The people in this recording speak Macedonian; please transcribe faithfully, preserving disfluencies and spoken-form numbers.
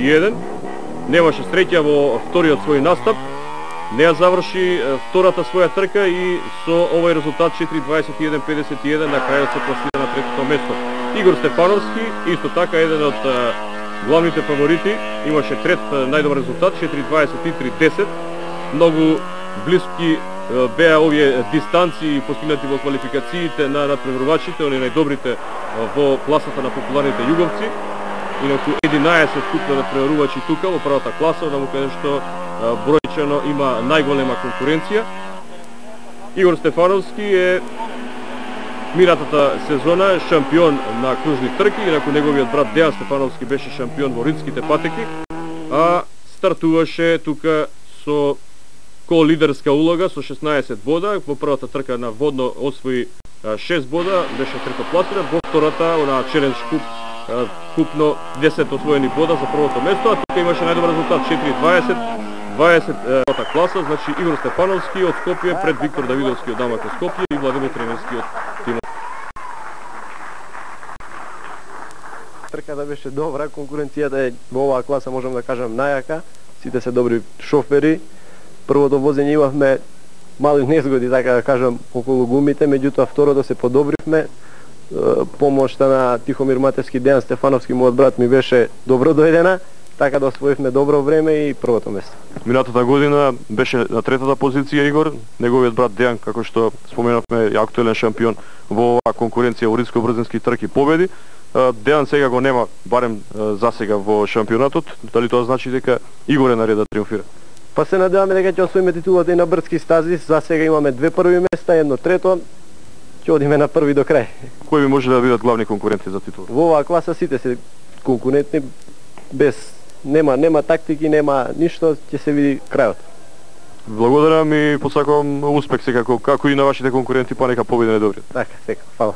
и еден. Немаше среќа во вториот свој настап. Не ја заврши втората своја трка и со овој резултат четири дваесет и еден педесет и еден на крајот се пласира на третото место. Игор Стефановски, исто така еден од главните фаворити, имаше трет најдобар резултат, четири дваесет и три десет. Многу блиски беа овие дистанции постигнати во квалификациите на надпреварувачите, они најдобрите во класата на популарните југовци. Инаку единаесет купно надпреварувачи тука во првата класа, да му кажем што бројчено има најголема конкуренција. Игор Стефановски е минатата сезона шампион на кружни трки, инаку неговиот брат Дејан Стефановски беше шампион во ридските патеки, а стартуваше тука со ко-лидерска улога со шеснаесет бода. Во првата трка на водно освои шест бода, беше третопласиран. Во втората, на Челендж куп, купно десет освоени бода за првото место, а тука имаше најдобар резултат четири дваесет дваесет класа, значи Игор Стефановски од Скопје пред Виктор Давидовски од Дамако Скопје и Владимир Тренерски од Тимо. Трката беше добра, конкуренцијата е во оваа класа, можам да кажам, најака. Сите се добри шофери. Првото возење имавме мали незгоди, така да кажам, околу гумите, меѓутоа второто се подобривме. Помошта на Тихомир Матевски, Дејан Стефановски, мојот брат, ми беше добро дојдена, така да освоивме добро време и првото место. Минатата година беше на третата позиција Игор, неговиот брат Дејан, како што споменавме, е актуелен шампион во оваа конкуренција во ридско-брзински трки победи. Дејан сега го нема, барем за сега во шампионатот, дали тоа значи дека Игор е на ред да триумфира? Па се надеваме дека ќе освоиме титулата и на брзки стази. За сега имаме две први места, едно трето. Ќе одиме на први до крај. Кои би може да бидат главни конкуренти за титул? Во оваа класа сите се конкурентни, без нема нема тактики, нема ништо, ќе се види крајот. Благодарам и посакувам успех секако, како и на вашите конкуренти, па нека победи најдобриот. Така, сега, фала.